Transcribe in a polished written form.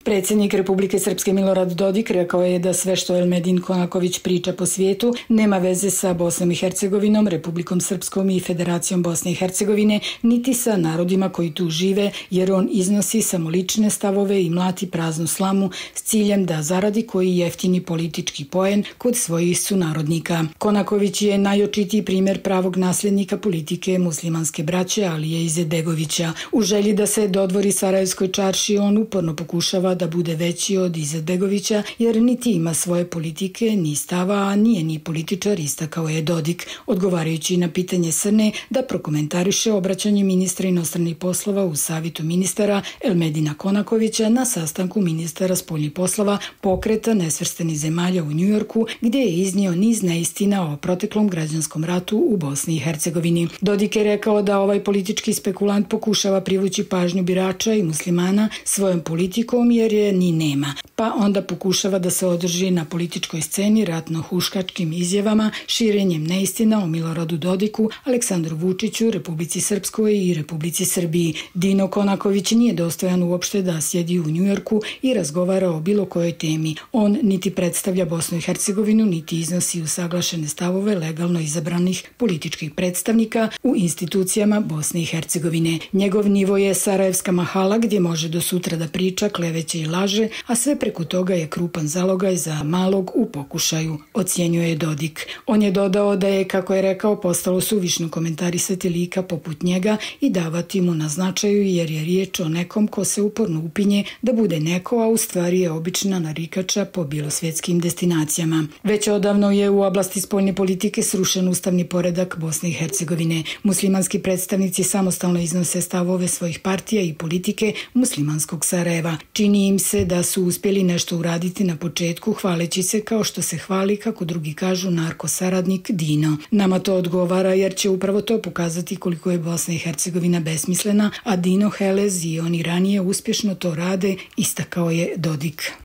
Predsjednik Republike Srpske Milorad Dodik rekao je da sve što Elmedin Konaković priča po svijetu nema veze sa Bosnom i Hercegovinom, Republikom Srpskom i Federacijom Bosne i Hercegovine, niti sa narodima koji tu žive, jer on iznosi samo lične stavove i mlati praznu slamu s ciljem da zaradi koji jeftini politički poen kod svojih sunarodnika. Konaković je najočitiji primjer pravog nasljednika politike muslimanske braće Alije Izetbegovića. U želji da se dodvori Sarajevskoj čarši, on uporno pokušava da bude veći od Izetbegovića, jer niti ima svoje politike, ni stava, a nije ni političar, istakao je Dodik, odgovarajući na pitanje Srne da prokomentariše obraćanje ministra inostranih poslova u Savetu ministara Elmedina Konakovića na sastanku ministara spoljnih poslova Pokreta nesvrstanih zemalja u Njujorku, gdje je iznio niz neistina o proteklom građanskom ratu u Bosni i Hercegovini. Dodik je rekao da ovaj politički spekulant pokušava privući pažnju birača i muslimana svojom politikom, jer je ni nema, pa onda pokušava da se održi na političkoj sceni ratno-huškačkim izjavama, širenjem neistina o Miloradu Dodiku, Aleksandru Vučiću, Republici Srpskoj i Republici Srbiji. Dino Konaković nije dostojan uopšte da sjedi u Njujorku i razgovara o bilo kojoj temi. On niti predstavlja Bosnu i Hercegovinu, niti iznosi usaglašene stavove legalno izabranih političkih predstavnika u institucijama Bosne i Hercegovine. Njegov nivo je Sarajevska mahala, gdje može do sutra da priča, kleveće i laže, a sve preko toga je krupan zalogaj za malog u pokušaju, ocjenjuje Dodik. On je dodao da je, kako je rekao, postalo suvišno komentarisati lika poput njega i davati mu na značaju, jer je riječ o nekom ko se uporno upinje da bude neko, a u stvari je obična narikača po bilosvjetskim destinacijama. Već odavno je u oblasti spoljne politike srušen ustavni poredak Bosne i Hercegovine. Muslimanski predstavnici samostalno iznose stavove svojih partija i politike muslimanskog Sarajeva. Čini im se da su uspjeli nešto uraditi na početku, hvaleći se kao što se hvali, kako drugi kažu, narkosaradnik Dino. Nama to odgovara, jer će upravo to pokazati koliko je Bosna i Hercegovina besmislena, a Dino Helez i oni ranije uspješno to rade, istakao je Dodik.